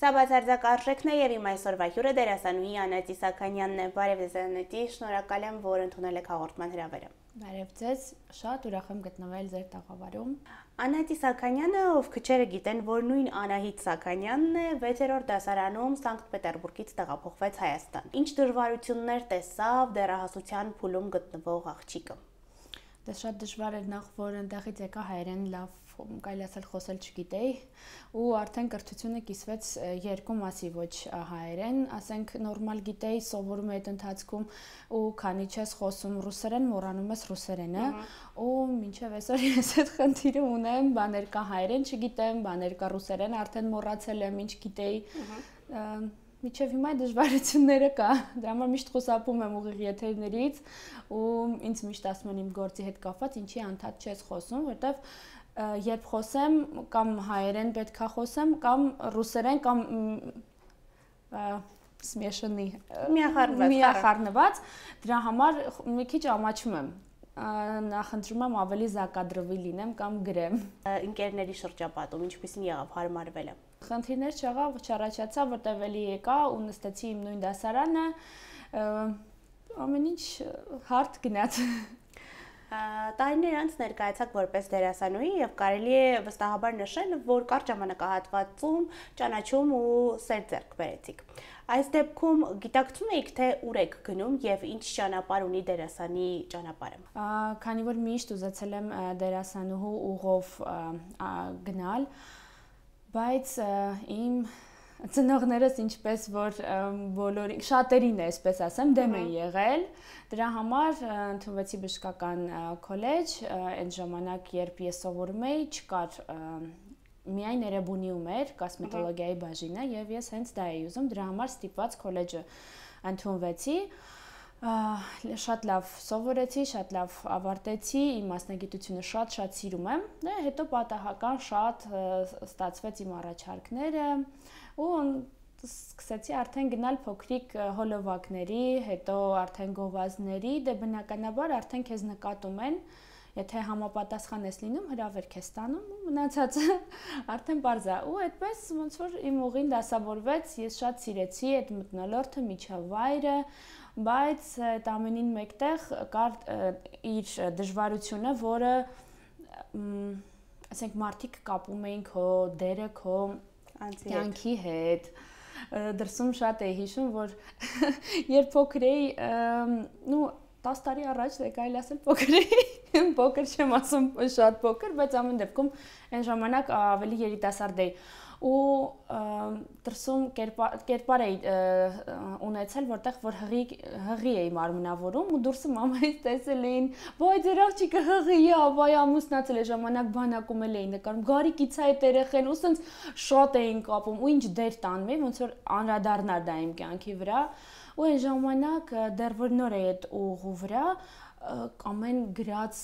Սա բացարձակ արժեքն է եւ իմ այսօրվա հյուրը դերասանուհի Անետ Իսաքանյանն է։ Բարև ձեզ Անետի, շնորհակալ եմ, որ ընդունել եք հաղորդման հրավերը։ Բարև ձեզ, շատ ուրախ եմ գտնվել ձեր տաղավարում։ Անետ Իսաքանյանը, ով քչերը գիտեն, որ նույն Անահիտ Սաքանյանն է, 6-րդ դասարանում Սանկտ Պետերբուրգից տեղափոխվեց Հայաստան։ Ինչ դժվարություններ տեսավ դեռահասության փուլում գտնվող աղջիկը։ Դա շատ դժվար էր նախ, որ այնտեղից եկա հայերեն լավ կարելի ասել խոսել չգիտեի ու արդեն կրթությունը կիսվեց երկու մասի, ոչ հայերեն, ասենք նորմալ գիտեի, սովորում էի այդ ընթացքում ու քանի չես խոսում ռուսերեն, մոռանում ես ռուսերենը ու մինչև այսօր ես այդ խնդիրը ունեմ, բաներ կա հայերեն չգիտեմ, բաներ կա ռուսերեն, արդեն մոռացել եմ ինչ գիտեի։ Միջև հիմա դժվարությունները կա, դրա համար միշտ խոսապում եմ ուղիղ եթերներից ու ինձ միշտ ասում են իմ գործի հետ կապված, ինչի անդադ չես խոսում, որտեվ երբ խոսեմ կամ հայերեն պետքա խոսեմ կամ ռուսերեն կամ смешанный միախառնված, դրա համար մի քիչ ամաչում եմ, նախընտրում եմ ավելի զակադրվի լինեմ կամ գրեմ։ Ընկերների շրջապատում ինչպեսին եղավ հարմարվելը։ Խնդիրներ չեղավ, չառաջացավ, որտեղ էլի եկա ու նստեցի իմ նույն դասարանը, ամեն ինչ հարթ գնաց։ Տարիներ անց ներկայացաք որպես դերասանուհի եւ կարելի է վստահաբար նշել, որ կարճ ժամանակահատվածում ճանաչում ու սեր ձեռք բերեցիք։ Այս դեպքում գիտակցում եք, թե ուր եք գնում եւ ինչ ճանապարհ ունի դերասանի ճանապարհը։ Քանի որ միշտ ուզեցել եմ դերասանուհու ուղով գնալ, բայց իմ ծնողներս ինչպես որ բոլորի շատերին է, այսպես ասեմ, դեմ են եղել, դրա համար ընդունվեցի բժշկական քոլեջ, այդ ժամանակ երբ ես սովորում էի, չկար միայն Էրեբունիում էր կոսմետոլոգիայի բաժինը եւ ես հենց դա էի ուզում, դրա համար ստիպված քոլեջը ընդունվեցի, շատ լավ սովորեցի, շատ լավ ավարտեցի, իմ մասնագիտությունը շատ սիրում եմ, հետո պատահական շատ ստացվեց իմ առաջարկները ու սկսեցի արդեն գնալ փոքրիկ հոլովակների, հետո արդեն գովազդների, դե բնականաբար արդեն քեզ նկատում են, եթե համապատասխան ես լինում, հրավերք ես ստանում ու մնացածը արդեն པարզ է։ Ու այդպես ոնց որ իմ ուղին դասավորվեց, ես շատ սիրեցի այդ մթնոլորտը, միջավայրը, բայց այդ ամենին մեկտեղ կար իր դժվարությունը, որը ասենք մարդիկ կապում էին քո դերը քո կյանքի հետ։ Դրսում շատ էի հիշում, որ երբ փոքր էի, 10 տարի առաջ կարելի ասել փոքր էի, փոքր չեմ ասում շատ փոքր, բայց ամեն դեպքում այն ժամանակ ավելի երիտասարդ էի ու դրսում կերպար էի ունեցել, որտեղ որ հղի էի մարմնավորում ու դուրսը մամայից տեսել էին, «Ոայ ձեր աղջիկը հղի է, վայ ամուսնացել է», ժամանակ բանակում էլ էի նկարում, «Գարիկից է այդ երեխեն» ու սենց շատ էին կապում ու ինչ դեր տանում էի, ոնց որ անդրադառնար դա իմ կյանքի վրա ու այն ժամանակ դեռ որ նոր էի այդ ուղու վրա ամեն գրած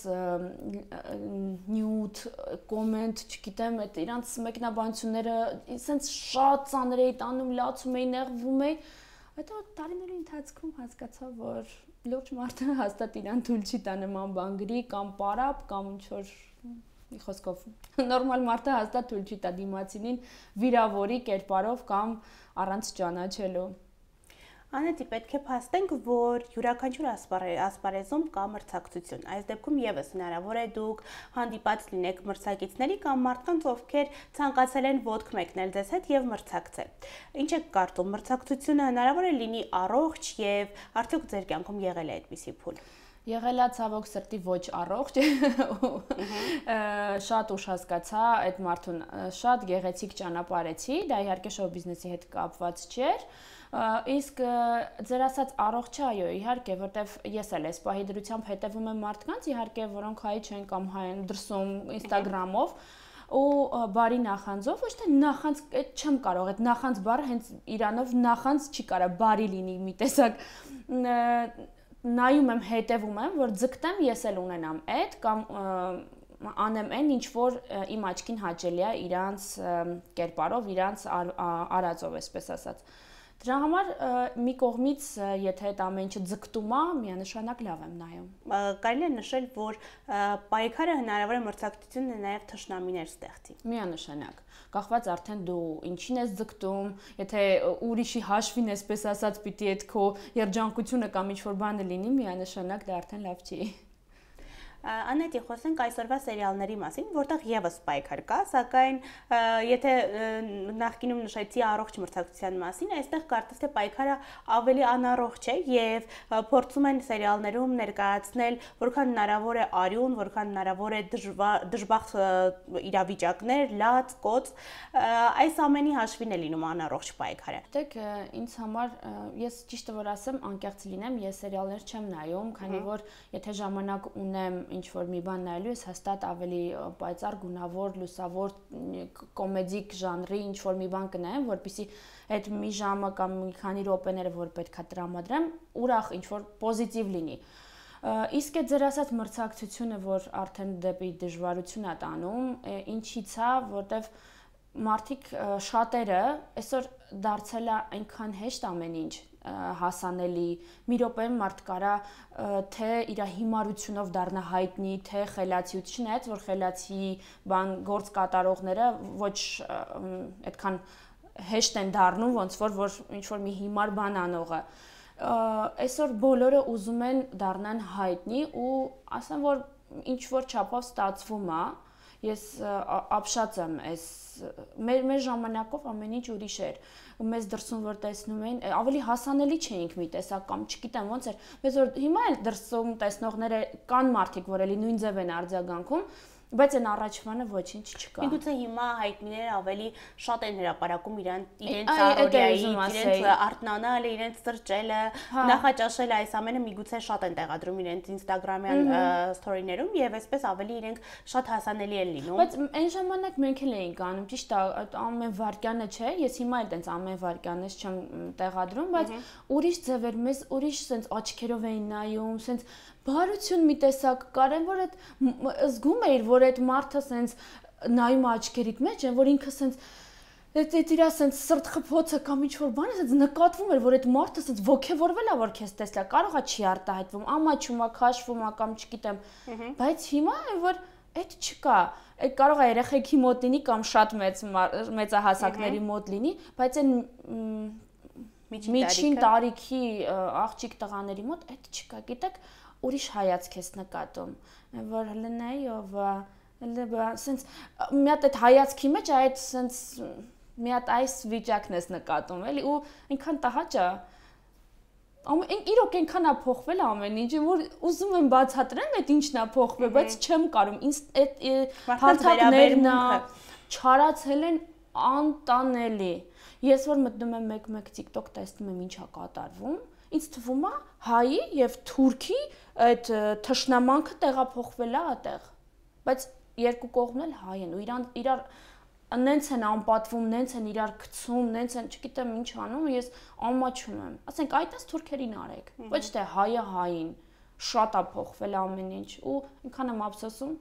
նյութ, կոմենտ, չգիտեմ, այդ իրանց մեկնաբանությունները սենց շատ ծանր էի տանում, լացում էի, նեղվում էի, հետո տարիների ընթացքում հասկացա, որ լուրջ մարդը հաստատ իրան թույլ չի տա նման բան գրի կամ պարապ կամ ինչ-որ մի խոսքով նորմալ մարդը հաստատ թույլ չի տա դիմացինին վիրավորի կերպարով կամ առանց ճանաչելու։ Անետի, պետք է փաստենք, որ յուրաքանչյուր ասպարեզում կա մրցակցություն։ Այս դեպքում եւս հնարավոր է դուք հանդիպած լինեք մրցակիցների կամ մարդկանց, ովքեր ցանկացել են ոտք մեկնել ձեզ հետ եւ մրցակցել։ Ինչ եք կարծում, մրցակցությունը հնարավոր է լինի առողջ եւ արդյոք ձեր կյանքում եղել է այդպիսի փուլ։ Եղել է ցավոք սրտի ոչ առողջ, շատ ուշ հասկացա այդ մարդուն, շատ գեղեցիկ ճանապարհեցի, դա իհարկե շոու բիզնեսի հետ կապված չէր, իսկ ձեր ասած առողջ է, այո, իհարկե, որտեվ ես էլ այս պահի դրությամբ հետևում եմ մարդկանց, իհարկե, որոնք հայ չեն կամ հայ են դրսում Instagram-ով ու բարի նախանձով, ոչ թե նախանձ, այդ չեմ կարող, այդ նախանձ բառը հենց իրանով նախանձ չի կարա բարի լինի մի տեսակ նայում եմ, հետևում եմ, որ ձգտեմ ես էլ ունենամ այդ կամ անեմ այն, ինչ որ իմ աչքին հաճելի է իրանց կերպարով, իրանց արածով, այսպես ասած։ Դրա համար մի կողմից եթե այդ ամեն ինչը ձգտում է, միանշանակ լավ եմ նայում։ Կարելի է նշել, որ պայքարը հնարավոր է մրցակցությունն է նաև թշնամիներ ստեղծի։ Միանշանակ։ Կախված արդեն դու ինչին ես ձգտում, եթե ուրիշի հաշվին այսպես ասած պիտի այդ քո երջանկությունը կամ ինչ-որ բանը լինի, միանշանակ դա արդեն լավ չի։ Անետի, խոսենք այսօրվա սերիալների մասին, որտեղ եւս պայքար կա, սակայն եթե նախկինում նշեցի առողջ մրցակցության մասին, այստեղ կարծես թե պայքարը ավելի անառողջ է եւ փորձում են սերիալներում ներկայացնել որքան հնարավոր է արյուն, որքան հնարավոր է դժբախտ իրավիճակներ, լաց, կոծ, այս ամենի հաշվին է լինում անառողջ պայքարը։ Դեք ինձ համար ես ճիշտը որ ասեմ, անկեղծ լինեմ, ես սերիալներ չեմ նայում, քանի որ եթե ժամանակ ունեմ ինչ-որ մի բան նայելու ես հաստատ ավելի պայծառ, գունավոր, լուսավոր, կոմեդիկ ժանրի ինչ-որ մի բան կնայեմ, որպեսզի այդ մի ժամը կամ մի քանի րոպեները, որ պետքա տրամադրեմ, ուրախ ինչ-որ պոզիտիվ լինի։ Իսկ այդ ձեր ասած մրցակցությունը, որ արդեն դեպի դժվարություն է տանում, ինչի՞ց է, որտեվ մարդիկ շատերը այսօր դարձել է այնքան հեշտ ամեն ինչ հասանելի, մի րոպեում մարդ կարա թե իր հիմարությունով դառնա հայտնի, թե խելացիություն, չնայած որ խելացի բան գործ կատարողները ոչ այդքան հեշտ են դառնում, ոնց որ ինչ-որ մի հիմար բան անողը։ Այսօր բոլորը ուզում են դառնան հայտնի ու ասեմ, որ ինչ-որ չափով ստացվում է, ես ապշած եմ այս մեր ժամանակով ամեն ինչ ուրիշ էր մեզ դրսում որ տեսնում էին ավելի հասանելի չէինք մի տեսակ կամ չգիտեմ ոնց էր մեզ որ հիմա էլ դրսում տեսնողները կան մարդիկ որ էլի նույն ձև են արձագանքում բայց այն առաջվանը ոչինչ չկա։ Միգուցե հիմա հայտնիները ավելի շատ են հրապարակում իրենց առօրյայի, իրենց արթնանալը, իրենց սրճելը, նախաճաշելը, այս ամենը միգուցե շատ են տեղադրում իրենց Instagram-յան story-ներում եւ այսպես ավելի իրենք շատ հասանելի են լինում։ Բայց այն ժամանակ մենք էլ էինք անում, ճիշտ է, ամեն վարկյանը չէ, ես հիմա էլ տենց ամեն վարկյանից չեմ տեղադրում, բայց ուրիշ ձևեր մեզ ուրիշ sense աչքերով էին նայում, sense բարություն մի տեսակ կարեն որ այդ զգում էիր որ այդ մարդը սենց նայում աչքերիդ մեջ են որ ինքը սենց այդ իր սենց սրտ խփոցը կամ ինչ-որ բան է սենց նկատվում էր որ այդ մարդը սենց ոգևորվել է որ քեզ տեսա կարողա չի արտահայտվում ամաչում է քաշվում է կամ չգիտեմ բայց հիմա որ այդ չկա այդ կարող է երեխեքի մոտ լինի կամ շատ մեծահասակների մոտ լինի բայց այն միջին տարիքի աղջիկ տղաների մոտ այդ չկա գիտեք ուրիշ հայացք ես նկատում, որ հլնայի ով սենց մի հատ այդ հայացքի մեջ այդ սենց մի հատ այս վիճակն ես նկատում, էլի ու այնքան տհաճ է իրոք այնքան է փոխվել ամեն ինչ, որ ուզում եմ բացատրեմ այդ ինչն է փոխվել, բայց չեմ կարող, ինձ այդ հարթակներն չարացել են անտանելի։ Ես որ մտնում եմ մեկ-մեկ TikTok տեսնում եմ ինչա կատարվում, ինձ թվում է հայի եւ թուրքի այդ թշնամանքը տեղափոխվել է այդտեղ բայց երկու կողմն էլ հայ են ու իրար նենց են անպատվում նենց են իրար գցում նենց են չգիտեմ ինչ անում ես ամաչում եմ ասենք այդպես թուրքերին արեք ոչ թե հայը հային շատ է փոխվել ամեն ինչ ու այնքան եմ ափսոսում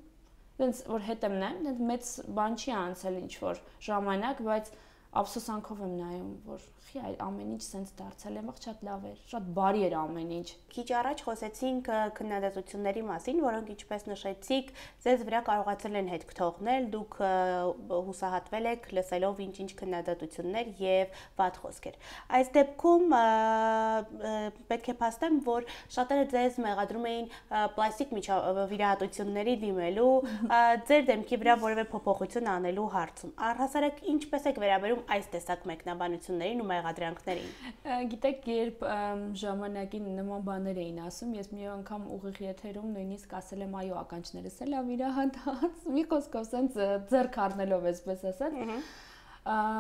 դենց որ հետ եմ նայում դենց մեծ բան չի անցել ինչ որ ժամանակ բայց ափսոսանքով եմ նայում որ խի ամեն ինչ սենց դարձել է շատ լավ էր շատ բարի էր ամեն ինչ քիչ առաջ խոսեցինք քննադատությունների մասին որոնք ինչպես նշեցիք ձեզ վրա կարողացել են հետք թողնել դուք հուսահատվել եք լսելով ինչ-ինչ քննադատություններ եւ վատ խոսքեր այս դեպքում պետք է փաստեմ որ շատերը ձեզ մեղադրում էին պլաստիկ վիրահատությունների դիմելու ձեր դեմքի վրա որևէ փոփոխություն անելու հարցում առհասարակ ինչպես եք վերաբերում այս տեսակ մեկնաբանություններին ու մեղադրանքներին Գիտեք, երբ ժամանակին նման բաներ էին ասում, ես մի անգամ ուղիղ եթերում նույնիսկ ասել եմ այո ականջներս էլ վիրահատած, մի խոսքով սենց ձեռք առնելով այսպես ասած,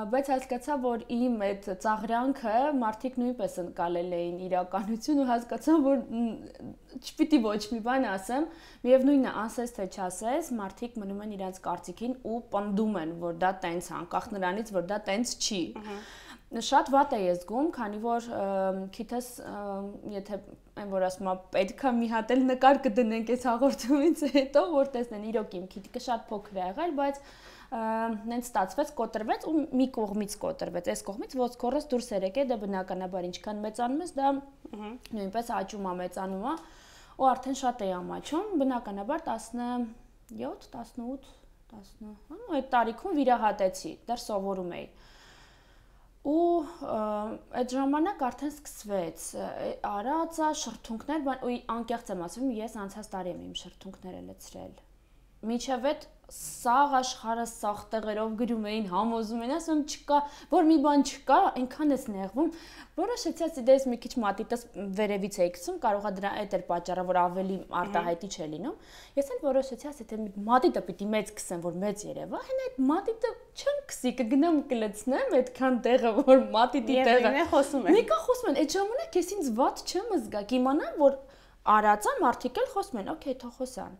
բայց հասկացա, որ իմ այդ ծաղրանքը մարդիկ նույնպես ընկալել էին իրականություն ու հասկացա, որ չպիտի ոչ մի բան ասեմ, միևնույնն է, ասես թե չասես, մարդիկ մնում են իրենց կարծիքին ու պնդում են, որ դա տենց է, անկախ նրանից, որ դա տենց չի։ Շատ վատ է ես զգում, քանի որ քիթս եթե այն որ ասում եմ պետք է մի հատ էլ նկար կդնենք այս հաղորդումից հետո որ տեսնեն իրոք իմ քիթիկը շատ փոքր է եղել, բայց նենց ստացվեց, կոտրվեց ու մի կողմից կոտրվեց, այս կողմից ոսկորս դուրս էր եկել, դա բնականաբար ինչքան մեծանում ես, դա նույնպես աճում է, մեծանում է ու արդեն շատ է ամաչում, բնականաբար 17, 18, 10, այդ տարիքում վիրահատեցի, դեռ սովորում էի։ Ու այդ ժամանակ արդեն սկսվեց արածա, շրթունքներ, ու անկեղծ եմ ասում, ես անցած տարի եմ իմ շրթունքները լցրել։ Մինչև այդ սաղ աշխարհը սաղ տեղերով գրում էին, համոզում էին, ասում չկա, որ մի բան չկա, այնքան էս նեղվում, որոշեցի ասիդես մի քիչ մատիտս վերևից էի գցում, կարողա դրա այդ էր պատճառը, որ ավելի արտահայտիչ է լինում։ Ես էլ որոշեցի ասի թե մատիտը պիտի մեծ գցեմ, որ մեծ երևա, հեն այդ մատիտը չեմ գցի, կգնամ կլցնեմ այդքան տեղը, որ մատիտի տեղը։ Եվ խոսում են։ Մեկը խոսում են, այդ ժամանակ ես ինձ վատ չեմ զգա, կիմանամ, որ արածա մարդիկ էլ խոսում են, օքեյ, թող խոսան։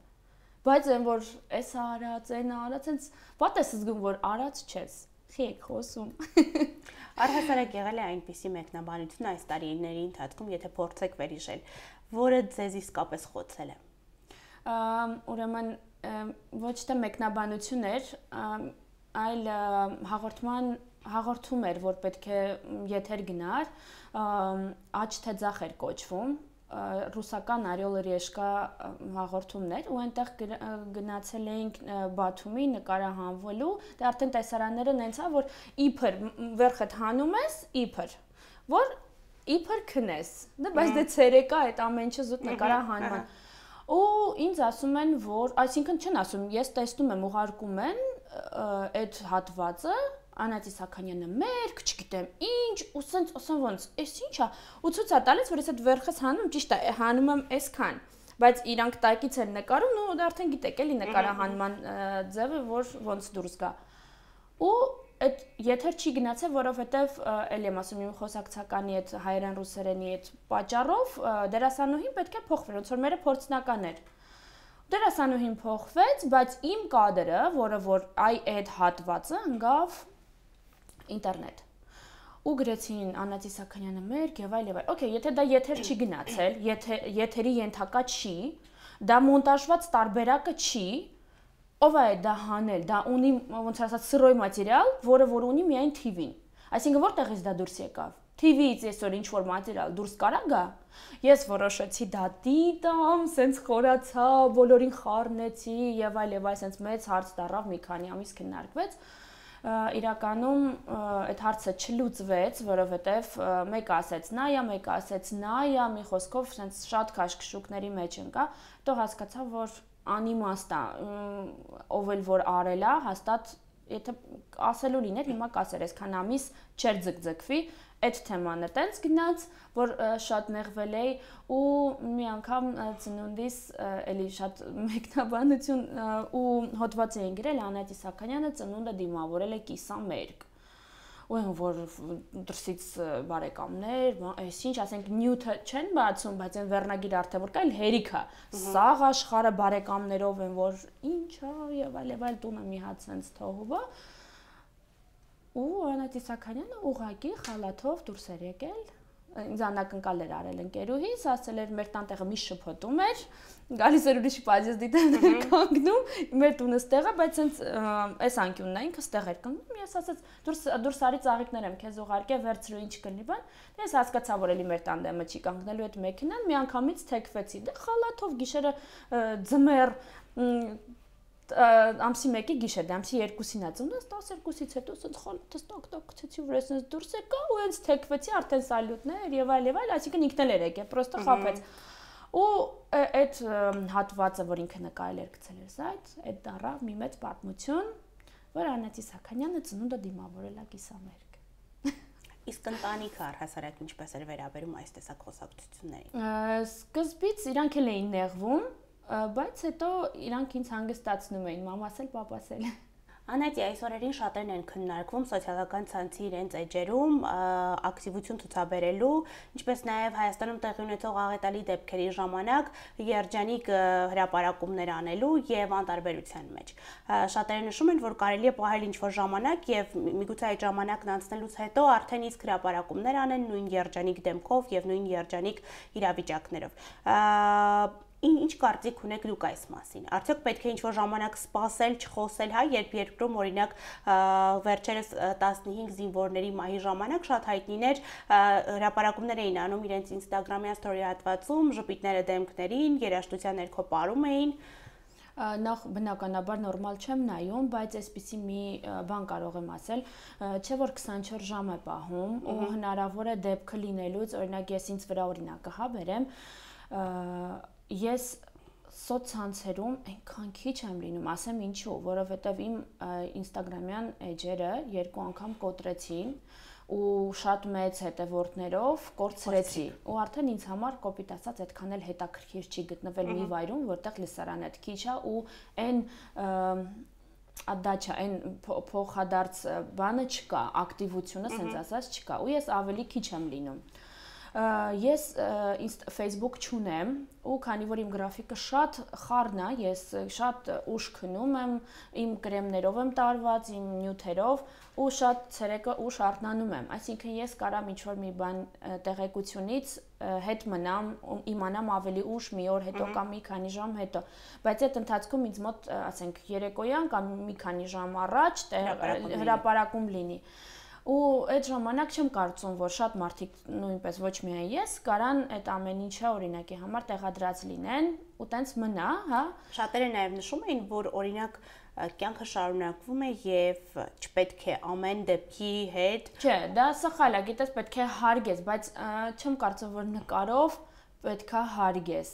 Բայց այն որ էս արած, այն արած, այնց ո՞տ ես զգում որ արած չես։ Խիեք խոսում։ Առհասարակ եղել է այնպիսի մեկնաբանություն այս տարիների ընթացքում, եթե փորձեք վերհիշել, որը ձեզ իսկապես խոցել է։ Ուրեմն ոչ թե մեկնաբանություն էր, այլ հաղորդում էր, որ պետք է եթեր գնար, աչ թե ձախ էր կոչվում, ռուսական Орел и Решка հաղորդումներ ու այնտեղ գնացել էինք Բաթումի նկարահանվելու, դե արդեն տեսարանները նենց է, որ իբր վերջդ հանում ես, իբր, որ իբր քնես, դե բայց դե ցերեկա այդ ամեն ինչը զուտ նկարահանման։ Ու ինձ ասում են, որ, այսինքն չեն ասում, ես տեսնում եմ ուղարկում են այդ հատվածը Անատի Սաքանյանը մերկ, չգիտեմ ինչ, ու սենց ասեմ ոնց, էս ի՞նչ է, ու ցույց է տալիս, որ ես այդ վերքս հանում, ճիշտ է, հանում եմ այսքան, բայց իրանք տակից են նկարում, ու դա արդեն գիտեք, էլի նկարահանման ձևը, որ ոնց դուրս գա։ Ու այդ եթեր չի գնացել, որովհետև էլի եմ ասում, իմ խոսակցականի այդ հայերեն ռուսերենի այդ պատճառով դերասանուհին պետք է փոխվեր, ոնց որ մերը փորձնական էր։ Դերասանուհին փոխվեց, բայց իմ կադրը, որը որ այդ հատվածը ընկավ ինտերնետ։ Ու գրեցին Անատի Սաքանյանը մերկ եւ այլ եւ այլ։ Okay, եթե դա եթեր չի գնացել, եթերի ենթակա չի, դա մոնտաժված տարբերակը չի, ով է դա հանել, դա ունի ոնց ասած սրոյ մատերիալ, որը որ ունի միայն TV-ին։ Այսինքն որտեղից դա դուրս եկավ։ TV-ից այսօր ինչ որ մատերիալ դուրս կարա գա։ Ես որոշեցի դա դիտամ, սենց խորացա, բոլորին խառնեցի եւ այլ, սենց մեծ հարց դառավ, մի քանի ամիս քննարկվեց։ Իրականում այդ հարցը չլուծվեց, որովհետև մեկը ասեց նայա, մեկը ասեց նայա, մի խոսքով sense շատ քաշքշուկների մեջ ընկա, հետո հասկացա, որ անիմաստ է, ով էլ որ արել է, հաստատ եթե ասելու լիներ, հիմա կասեր, այսքան ամիս չեր ձգձգվի, այդ թեման է տենց գնաց, որ շատ նեղվել էի ու մի անգամ ծնունդիս էլի շատ մեկնաբանություն ու հոդված էին գրել Անատի Սաքանյանը ծնունդը դիմավորել է կիսամերկ։ Ու այն որ դրսից բարեկամներ, այսինչ ասենք նյութը չեն բացում, բայց այն վերնագիր արդեն որ կա, այլ հերիքա։ Սաղ աշխարհը բարեկամներով են, որ ինչա եւ այլ տունը մի հատ sense թողուվա։ Ու Անատի Սաքանյանը ուղակի խալաթով դուրս էր եկել, ինձ անակնկալ էր արել ընկերուհիս, ասել էր մեր տանտեղը մի շփոթում էր, գալիս էր ուրիշի պազեստիտներ կանգնում, մեր տունը ստեղ է, բայց հենց այս անկյունն է, ինքը ստեղ էր կանգնում, ես ասաց դուրս արի ծաղիկներ եմ քեզ ուղարկե, վերցրու ինչ կլինի բան, ես հասկացա որ էլի մեր տանդեմը չի կանգնելու այդ մեքենան, մի անգամից թեքվեցի, դե խալաթով գիշերը ձմեռ ամսի 1-ի գիշեր, դե ամսի 2-ին է ծնունդս, 12-ից հետո ասած խալաթս տակ գցեցի վրա, ասած դուրս եկա ու հենց թեքվեցի արդեն սալյուտներ եւ այլ, այսինքն ինքն էլ էր եկել, պրոստը խաբեց։ Ու այդ հատվածը, որ ինքը նկարել էր գցել էր զայդ, այդ դառավ մի մեծ պատմություն, որ Անատի Սաքանյանը ծնունդը դիմավորել է կիսամերկ։ Իսկ ընտանիքը առհասարակ ինչպես էր վերաբերում այս տեսակ խոսակցություններին։ Սկզբից իրանք էլ էին նեղվում, բայց հետո իրանք ինձ հանգստացնում էին, մամաս էլ, պապաս էլ։ Անետի այս օրերին շատերն են քննարկվում սոցիալական ցանցի իրենց էջերում ակտիվություն ցուցաբերելու, ինչպես նաև Հայաստանում տեղի ունեցող աղետալի դեպքերի ժամանակ երջանիկ հրապարակումներ անելու եւ անտարբերության մեջ։ Շատերը նշում են, որ կարելի է պահել ինչ-որ ժամանակ եւ միգուցե այդ ժամանակն անցնելուց հետո արդեն իսկ հրապարակումներ անեն նույն երջանիկ դեմքով եւ նույն երջանիկ իրավիճակներով։ Ինչ կարծիք ունեք դուք այս մասին։ Արդյոք պետք է ինչ-որ ժամանակ սպասել, չխոսել, հա, երբ երկրում օրինակ վերջերս 15 զինվորների մահի ժամանակ շատ հայտնիներ հրապարակումներ էին անում իրենց Instagram-յան story հատվածում, ժպիտները դեմքներին, երաժշտության ներքո պարում էին։ Նախ բնականաբար նորմալ չեմ նայում, բայց այսպիսի մի բան կարող եմ ասել, չէ որ 24 ժամ է պահում ու հնարավոր է դեպքը լինելուց, օրինակ ես ինձ վրա օրինակը հա բերեմ, ես սոցցանցերում այնքան քիչ եմ լինում, ասեմ ինչու, որովհետև իմ Instagram-յան էջերը 2 անգամ կոտրեցին ու շատ մեծ հետևորդներով կորցրեցի ու արդեն ինձ համար կոպիտ ասած այդքան էլ հետաքրքիր չի գտնվել մի վայրում, որտեղ լսարանը քիչ է ու այն ադաչա այն փոխադարձ բանը չկա, ակտիվությունը, ասենց ասած չկա ու ես ավելի քիչ եմ լինում։ Ես Facebook չունեմ ու քանի որ իմ գրաֆիկը շատ խառն է, ես շատ ուշ քնում եմ, իմ կրեմներով եմ տարված, իմ նյութերով ու շատ ցերեկը ուշ արթնանում եմ, այսինքն ես կարամ ինչ-որ մի բան տեղեկությունից հետ մնամ, իմանամ ավելի ուշ մի օր հետո կամ մի քանի ժամ հետո, բայց այդ ընթացքում ինձ մոտ, ասենք, երեկոյան կամ մի քանի ժամ առաջ հրապարակում լինի։ Ու այդ ժամանակ չեմ կարծում, որ շատ մարդիկ նույնպես ոչ միայն ես կարան այդ ամեն ինչը օրինակի համար տեղադրած լինեն ու տենց մնա, հա։ Շատերը նաև նշում էին, որ օրինակ կյանքը շարունակվում է եւ չպետք է ամեն դեպքի հետ։ Չէ, դա սխալ է, գիտես, պետք է հարգես, բայց չեմ կարծում, որ նկարով պետքա հարգես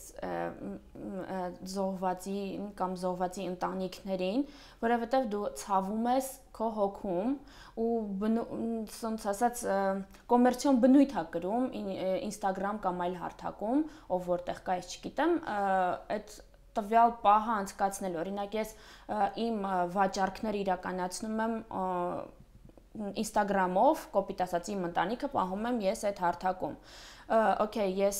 զոհվածի կամ զոհվածի ընտանիքներին, որովհետև դու ցավում ես քո հոգում ու ոնց ասած կոմերցիոն բնույթ է կրում Instagram կամ այլ հարթակում, ով որտեղ կա, ես չգիտեմ, այդ տվյալ պահը անցկացնել, օրինակ ես իմ վաճառքները իրականացնում եմ Instagram-ով, կոպիտ ասած իմ ընտանիքը պահում եմ ես այդ հարթակում։ Okay, ես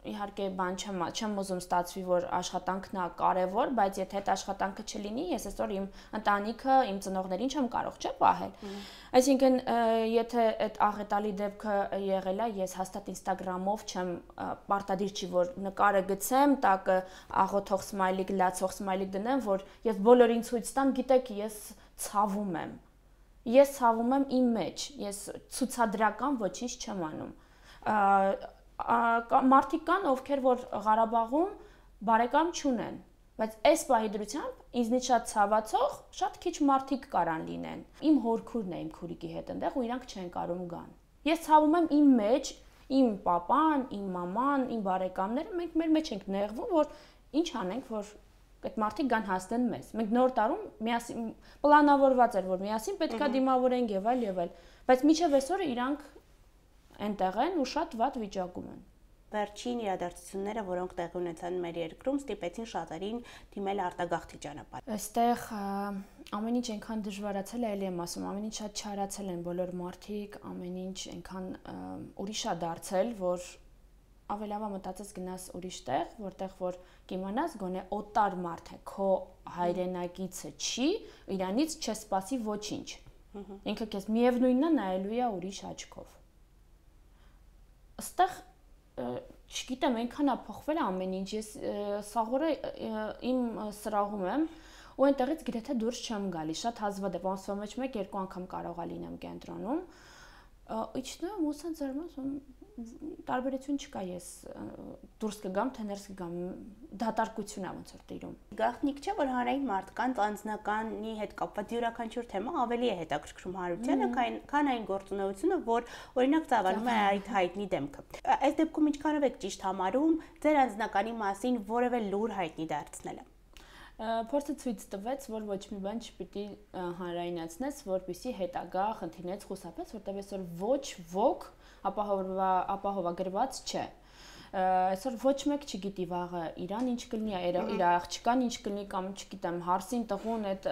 իհարկե բան չեմ ուզում ստացվի, որ աշխատանքն է կարևոր, բայց եթե այդ աշխատանքը չլինի, ես այսօր իմ ընտանիքը, իմ ծնողներին չեմ կարող, չէ՞, պահել։ Այսինքն, եթե այդ աղետալի դեպքը եղել է, ես հաստատ Instagram-ով չեմ պարտադիր չի, որ նկարը գցեմ, տակը աղոթող սմայլիկ, լացող սմայլիկ դնեմ, որ ես բոլորին ցույց տամ, գիտեք, ես ցավում եմ։ Ես ցավում եմ իմ մեջ, ես ցուցադրական ոչինչ չեմ անում։ Մարդիկ կան, ովքեր որ Ղարաբաղում բարեկամ չունեն, բայց այս պահի դրությամբ ինձնից շատ ցավացող շատ քիչ մարդիկ կարան լինեն։ Իմ հորքուրն է իմ քուրիկի հետ այնտեղ ու իրանք չեն կարող գան։ Ես ցավում եմ իմ մեջ, իմ պապան, իմ մաման, իմ բարեկամները, մենք մեր մեջ ենք նեղվում, որ ինչ անենք, որ այդ մարդիկ գան հասնեն մեզ։ Մենք նոր տարում միասին պլանավորված էր, որ միասին պետքա դիմավորենք եւ այլ, բայց մինչեւ այսօր իրանք այնտեղ են ու շատ վատ վիճակում են։ Վերջին իրադարձությունները, որոնք տեղի ունեցան մեր երկրում, ստիպեցին շատերին դիմել արտագաղթի ճանապարհ։ Այստեղ ամեն ինչ այնքան դժվարացել է, ելի եմ ասում, ամեն ինչ շատ չարացել են բոլոր մարդիկ, ամեն ինչ այնքան ուրիշ է դարձել, որ ավելավա մտածես գնաս ուրիշ տեղ, որտեղ որ կիմանաս գոնե օտար մարդ է, քո հայրենակիցը չի, իրանից չսպասի ոչինչ։ Ինքը քեզ միևնույնն է նայելու է ուրիշ աչքով։ Այստեղ չգիտեմ, այնքան է փոխվել ամեն ինչ, ես սաղորը իմ սրահում եմ ու այնտեղից գրեթե դուրս չեմ գալիս, շատ հազվադեպ, ամսվա մեջ 1-2 անգամ կարող է լինեմ կենտրոնում, իջնում ու սենց զարմանում, տարբերություն չկա, ես դուրս կգամ, թե ներս կգամ, դատարկություն է ոնց որ տիրում։ Գաղտնիք չէ, որ հանրային մարդկանց անձնականի հետ կապված յուրաքանչյուր թեմա ավելի է հետաքրքրում հանրությանը, քան այն գործունեությունը, որ օրինակ ծավալում է այդ հայտնի դեմքը։ Այս դեպքում ինչքանով եք ճիշտ համարում ձեր անձնականի մասին որևէ լուր հայտնի դարձնելը։ Փորձը ցույց տվեց, որ ոչ մի բան չպիտի հանրայնացնես, որպեսզի հետագա խնդիրներից խուսափես, որտեղ այսօր ոչ ոք ապահովագրված չէ։ այսօր ոչ մեկ չգիտի վաղը իրան ինչ կլինի, իր աղջկան ինչ կլինի կամ չգիտեմ, հարսին, տղուն, այդ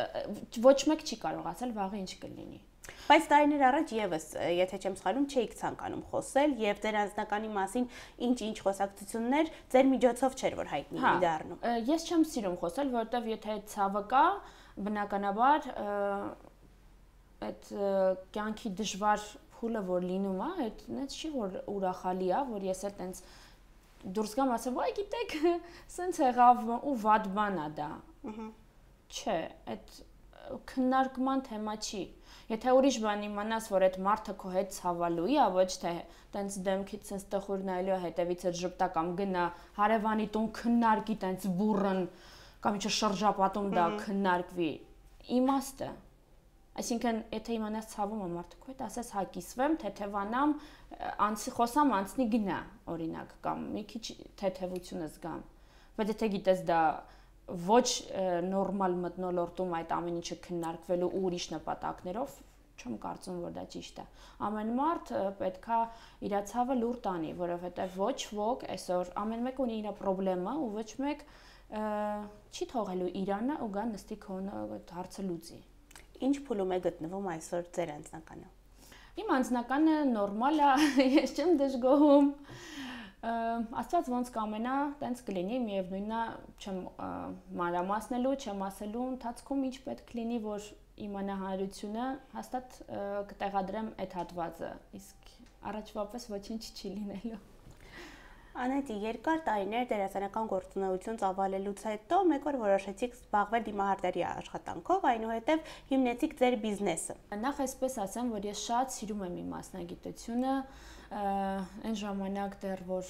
ոչ մեկ չի կարող ասել վաղը ինչ կլինի։ Բայց տարիներ առաջ եւս, եթե չեմ սխալվում, չէիք ցանկանում խոսել եւ ձեր անձնականի մասին ինչ խոսակցություններ ձեր միջոցով չէր որ հայտնի դառնում։ Ես չեմ սիրում խոսել, որովհետեւ եթե ցավը կա, բնականաբար այդ կյանքի դժվար փուլը որ լինում է, այդ չի որ ուրախալի է, որ ես էլ տենց դուրս գամ ասեմ, «Ոայ, գիտեք, սենց եղավ ու վատ բան է դա»։ Չէ, այդ քննարկման թեմա չի։ Եթե ուրիշ բան իմանաս, որ այդ մարդը քո հետ ցավալու է, ոչ թե տենց դեմքից սենց տխուր նայելու հետևից այդ ժպտա կամ գնա հարևանի տուն քննարկի տենց բուրըն կամ ինչ շրջապատում դա քննարկվի, իմաստը։ Այսինքն, եթե իմանաս ցավում է մարդը քո հետ, ասես հա կիսվեմ, թեթևանամ, խոսամ անցնի գնա, օրինակ, կամ մի քիչ թեթևությունը զգամ։ Բայց եթե գիտես դա ոչ նորմալ մթնոլորտում այդ ամեն ինչը քննարկվելու ու ուրիշ նպատակներով, չեմ կարծում, որ դա ճիշտ է։ Ամեն մարդ պետքա իր ցավը լուր տանի, որովհետև ոչ ոք այսօր ամեն մեկ ունի իր խնդրեմը ու ոչ մեկ չի թողելու իրանը ու գա նստի քոնը հարցը լուծի։ Ինչ փուլում է գտնվում այսօր ձեր անձնականը։ Իմ անձնականը նորմալ է, ես չեմ դժգոհում։ Աստված ոնց կամենա, տենց կլինի, միևնույնն է, չեմ մանրամասնելու, չեմ ասելու ընթացքում ինչ պետք լինի, որ իմանա հանրությունը, հաստատ կտեղադրեմ այդ հատվածը, իսկ առաջվա պես ոչինչ չի լինելու։ Անետի, երկար տարիներ դերասանական գործունեություն ծավալելուց հետո մեկ օր որոշեցիք զբաղվել դիմահարդարի աշխատանքով, այնուհետև հիմնեցիք ձեր բիզնեսը։ Նախ այսպես ասեմ, որ ես շատ սիրում եմ իմ մասնագիտությունը, այն ժամանակ դեռ որ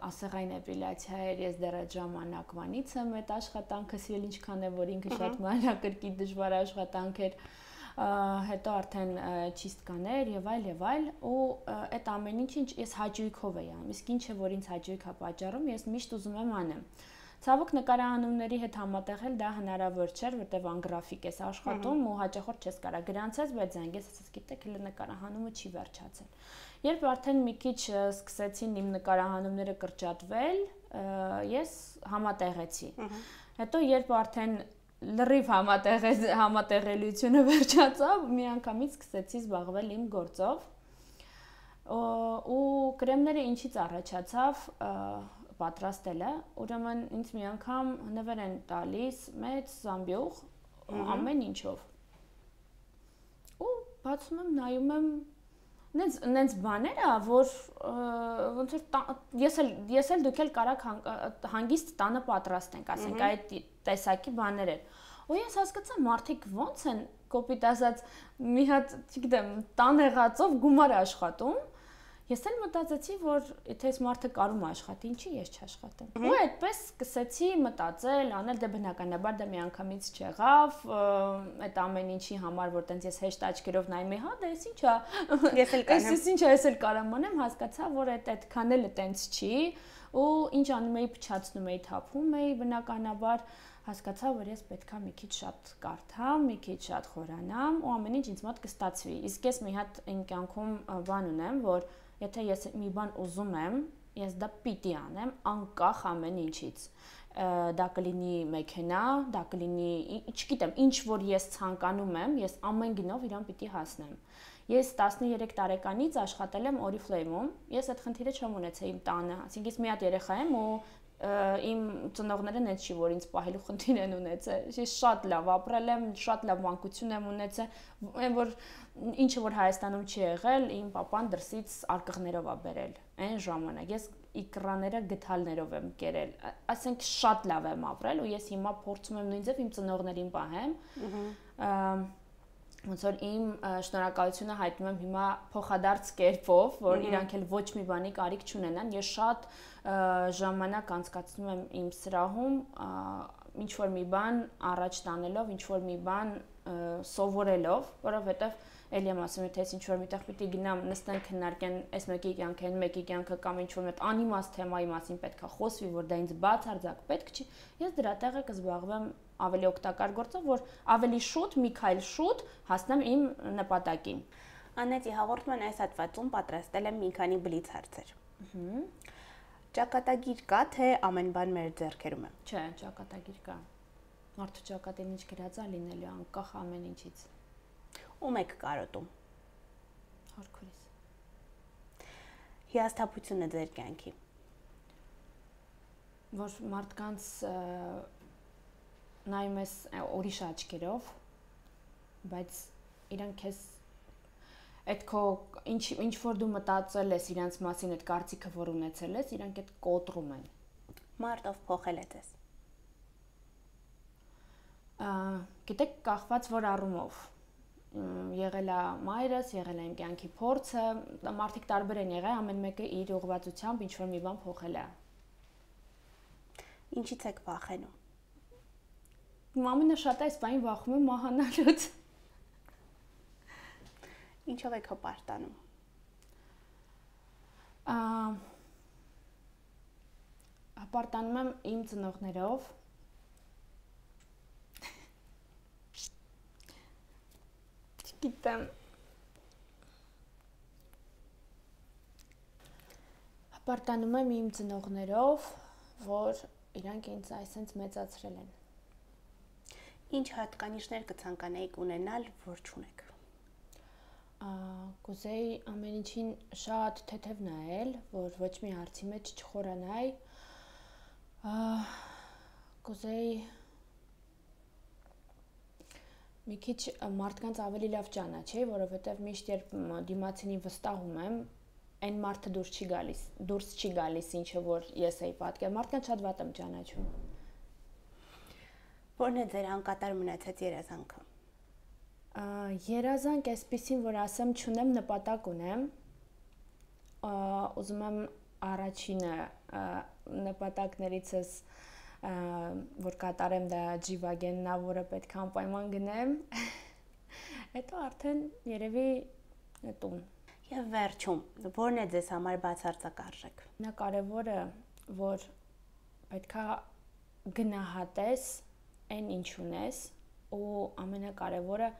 ասեղային էպիլյացիա էր, ես դեռ այդ ժամանակվանից եմ այդ աշխատանքը սիրել, ինչքան է որ ինքը շատ մանրակրկիտ դժվար աշխատանք էր, հետո արդեն չիստկաներ եւ այլ ու այդ ամեն ինչ ես հաճույքով էի անում, իսկ ինչը որ ինձ հաճույք է պատճառում, ես միշտ ուզում եմ անեմ։ Ցավոք նկարահանումների հետ համատեղել դա հնարավոր չէր, որտեվ անգրաֆիկ ես աշխատում ու հաճախորդ չես կարա գրանցես, բայց զանգես ասես գիտեք, հələ նկարահանումը չի վերջացել։ Երբ արդեն մի քիչ սկսեցին իմ նկարահանումները կրճատվել, ես համատեղեցի։ Հետո երբ արդեն լրիվ համատեղելիությունը վերջացավ, միանգամից սկսեցի զբաղվել իմ գործով ու կրեմները ինչից առաջացավ պատրաստելը, ուրեմն ինձ մի անգամ նվեր են տալիս մեծ զամբյուղ ամեն ինչով ու բացում եմ, նայում եմ նենց բաներ է, որ ոնց որ ես էլ դուք էլ կարաք հանգիստ տանը պատրաստենք, ասենք այդ տեսակի բաներ են։ Ու ես հասկացա մարդիկ ոնց են կոպիտ ասած մի հատ, չգիտեմ, տան եղածով գումար աշխատում։ Ես էլ մտածեցի, որ եթե այս մարդը կարում աշխատի, ինչի ես չաշխատեմ։ Ու այդպես սկսեցի մտածել, անել, դե բնականաբար դա միանգամից չեղավ, այդ ամեն ինչի համար, որ տենց ես հեշտ աչքերով նայում եմ, հա, դա էս ինչ է։ Ես էլ կանեմ։ Էս ինչ է, ես էլ կարամ անեմ, հասկացա, որ այդքան էլ տենց չի, ու ինչ անում էի, փչացնում էի, թափում էի, բնականաբար հասկացա, որ ես պետքա մի քիչ շատ կարդամ, մի քիչ շատ խորանամ ու ամեն ինչ ինձ մոտ կստացվի։ Իսկ ես մի հատ իմ կյանքում բան ունեմ, որ եթե ես մի բան ուզում եմ, ես դա պիտի անեմ, անկախ ամեն ինչից։ Դա կլինի մեքենա, դա կլինի, չգիտեմ, ինչ որ ես ցանկանում եմ, ես ամեն գնով իրան պիտի հասնեմ։ Ես 13 տարեկանից աշխատել եմ Oriflame-ում, ես այդ խնդիրը չեմ ունեցել իմ տանը, ասենք ես մի հատ երեխա եմ ու իմ ծնողները նենց չի որ ինձ պահելու խնդիր են ունեցել։ Ես շատ լավ ապրել եմ, շատ լավ մանկություն եմ ունեցել, այն որ ինչը որ Հայաստանում չի եղել, իմ papan դրսից արկղներով է բերել։ Այն ժամանակ ես իկրաները գթալներով եմ կերել։ Ասենք շատ լավ եմ ապրել ու ես հիմա փորձում եմ նույնպես իմ ծնողներին պահեմ։ Ոնց որ իմ շնորհակալությունը հայտնում եմ հիմա փոխադարձ կերպով, որ իրանք էլ ոչ մի բանի կարիք չունենան։ Ես շատ ժամանակ անցկացնում եմ իմ սրահում, ինչ որ մի բան առաջ տանելով, ինչ որ մի բան սովորելով, որովհետև էլի եմ ասում, եթե ես ինչ որ միտեղ պիտի գնամ, նստեն քննարկեն, այս մեկի կյանքը, այն մեկի կյանքը կամ ինչ որ մեծ անիմաստ թեմայի մասին պետքա խոսվի, որ դա ինձ բացարձակ պետք չի, ես դրա տեղը կզբաղվեմ ավելի օգտակար գործով, որ ավելի շուտ, մի քայլ շուտ հասնեմ իմ նպատակին։ Անետի, հաղորդման այս հատվածում պատրաստել եմ մի քանի բլից հարցեր։ Ճակատագիր կա, թե ամեն բան մեր ձեռքերում է։ Չէ, ճակատագիր կա։ Մարդու ճակատին ինչ գրած է լինելու անկախ ամեն ինչից։ Ում եք կարոտում։ Հարկուրից։ Հիասթափությունը ձեր կյանքի։ Որ մարդկանց նայում ես ուրիշ աչքերով, բայց իրանք քեզ այդ քո ինչ որ դու մտածել ես իրանց մասին, այդ կարծիքը որ ունեցել ես, իրանք այդ կոտրում են։ Մարդով փոխել է ձեզ։ Գիտեք, կախված որ առումով եղել է մայրս, եղել է իմ կյանքի փորձը, մարդիկ տարբեր են եղել, ամեն մեկը իր ուղղվածությամբ ինչ որ մի բան փոխել է։ Ինչից եք վախենում։ Ամենը շատ այս բանին վախում եմ մահանալուց։ Ինչով եք հպարտանում։ Հպարտանում եմ իմ ծնողներով։ Չգիտեմ։ Հպարտանում եմ իմ ծնողներով, որ իրանք ինձ այսպես մեծացրել են։ Ինչ հատկանիշներ կցանկանայիք ունենալ, որ չունեք։ Կուզեի ամեն ինչին շատ թեթև նայել, որ ոչ մի հարցի մեջ չխորանայի։ Կուզեի մի քիչ մարդկանց ավելի լավ ճանաչեի, որովհետև միշտ երբ դիմացինի վստահում եմ, այն մարդը դուրս չի գալիս, ինչը որ ես էի պատկեր։ Մարդկանց շատ վատ եմ ճանաչում։ Որն է ձեր անկատար մնացած երազանքը։ Երազանք այսպեսին, որ ասեմ, չունեմ, նպատակ ունեմ։ Ուզում եմ առաջինը նպատակներիցս որ կատարեմ դա G-Wagen-ն, որը պետք է անպայման գնեմ։ Հետո արդեն երևի տուն։ Եվ վերջում, որն է ձեզ համար բացարձակ արժեք։ Կարևորը, որ պետք է գնահատես այն ինչ ունես, ու ամենակարևորը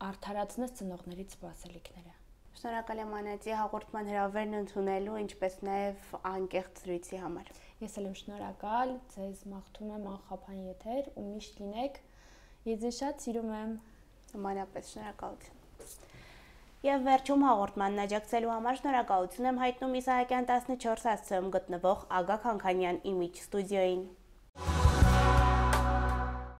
արդարացնես ծնողներից սպասելիքները։ Շնորհակալ եմ Անետի հաղորդման հրավերն ընդունելու, ինչպես նաև անկեղծ զրույցի համար։ Ես էլ եմ շնորհակալ, ձեզ մաղթում եմ անխափան եթեր ու միշտ լինեք։ Ես ձեզ շատ սիրում եմ։ Նմանապես շնորհակալություն։ Եվ վերջում հաղորդմանն աջակցելու համար շնորհակալություն եմ հայտնում Իսահակյան 14 հասցեում գտնվող Ագա Քանքանյան Image ստուդիոյին։